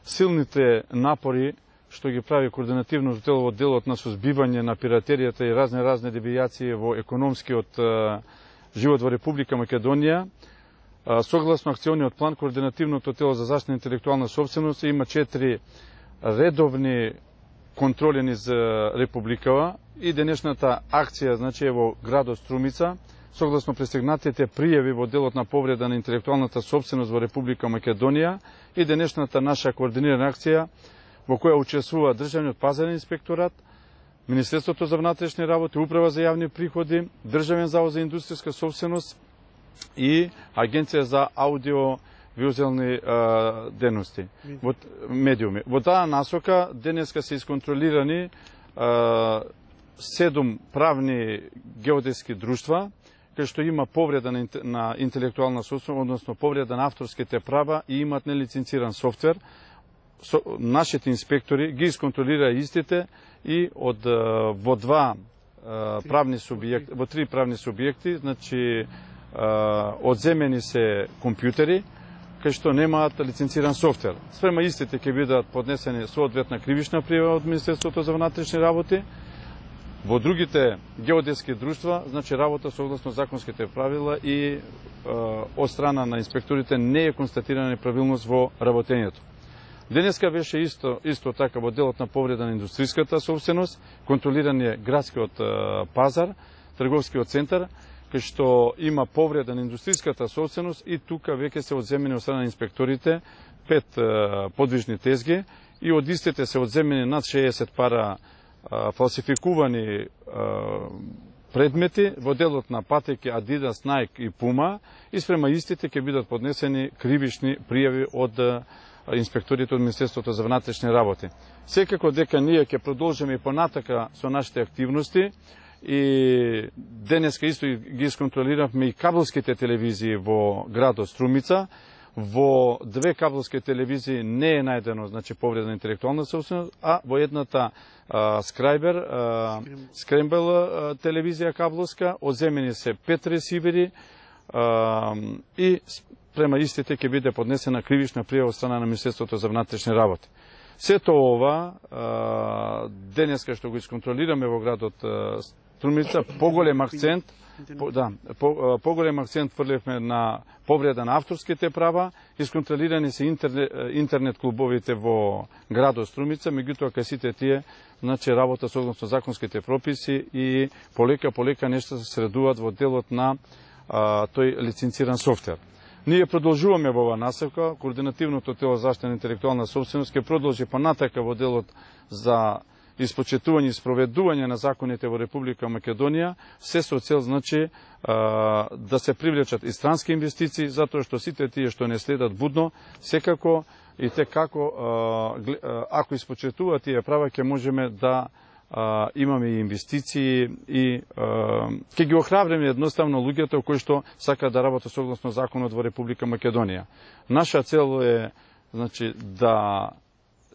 силните напори што ги прави координативно тело во делот на сузбивање на пиратеријата и разни девијации во економскиот живот во Република Македонија, согласно акциониот план, координативното тело за заштита на интелектуална собственост има 4 редовни контроли низ Републикава и денешната акција, значи, во градот Струмица, согласно пристигнатите пријави во делот на повреда на интелектуалната собственост во Република Македонија и денешната наша координирана акција во која учествува Државниот пазарен инспекторат, Министерството за внатрешни работи, Управа за јавни приходи, Државен завод за индустријска собственост и Агенција за аудио-визуелни дејности, медиуми. Во таа насока денеска се исконтролирани 7 правни геодетски друштва, кај што има повреда на интелектуална собственост, односно повреда на авторските права и имат нелиценциран софтвер. Нашите инспектори ги исконтролираа истите и во 3 правни субјекти, значи одземени се компјутери кај што немаат лиценциран софтвер. Спрема истите ќе бидат поднесени соодветна кривична пријава од Министерството за внатрешни работи. Во другите геодетски друштва, значи работа согласно законските правила и од страна на инспекторите не е констатирана неправилност во работењето. Денеска беше исто така во делот на повреда на индустријската собственост, контролиран е градскиот пазар, трговскиот центар, кај што има повреда на индустријската собственост и тука веќе се одземени од страна на инспекторите 5 подвижни тезги и од истите се одземени над 60 пара фалсификувани предмети во делот на патеки Adidas, Nike и Puma и спрема истите ќе бидат поднесени кривични пријави од инспекторите од Министерството за внатрешни работи. Секако дека ние ќе продолжиме и понатака со нашите активности и денеска исто ги исконтролиравме и кабелските телевизии во градот Струмица. Во 2 кабелски телевизии не е најдено, значи, повреда на интелектуална собственост, а во едната Скрембел телевизија кабелска одземени се 5 ресивери и према истите ќе биде поднесена кривична пријава од страна на Министерството за внатрешни работи. Сето ова денеска што го исконтролираме во градот Струмица, поголем акцент фрлевме на повреда на авторските права, исконтролирани се интернет клубовите во градот Струмица, меѓутоа кај сите тие, значи, работа согласно законските прописи и полека нешто се средуваат во делот на тој лиценциран софтвер. Ние продолжуваме во оваа насока, координативното тело за заштита на интелектуална собственост ќе продолжи понатака во делот за испочетување и спроведување на законите во Република Македонија, се со цел, значи, да се привлечат и странски инвестиции, затоа што сите тие што не следат будно, секако и како ако испочетуваат тие права, ќе можеме да имаме и инвестиции и ќе ги охрабриме едноставно луѓето кои што сакаат да работат согласно законот во Република Македонија. Наша цел е, значи, да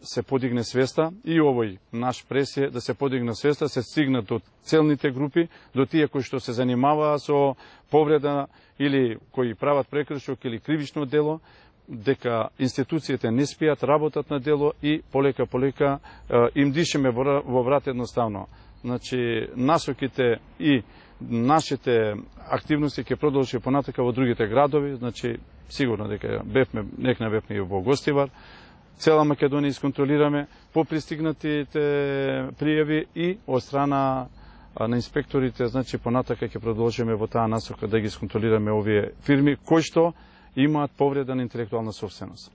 се подигне свеста и овој наш прес е да се подигне свеста, се стигнат до целните групи, до тие кои што се занимаваа со повреда или кои прават прекршок или кривично дело, дека институциите не спијат, работат на дело и полека им дишеме во врат едноставно. Значи, насоките и нашите активности ќе продолжи понатака во другите градови, значи, сигурно дека некна бевме и во Гостивар, цела Македонија исконтролираме по пристигнатите пријави и од страна на инспекторите, значи, понатака ќе продолжиме во таа насока да ги исконтролираме овие фирми кои што имаат повреда на интелектуална собственост.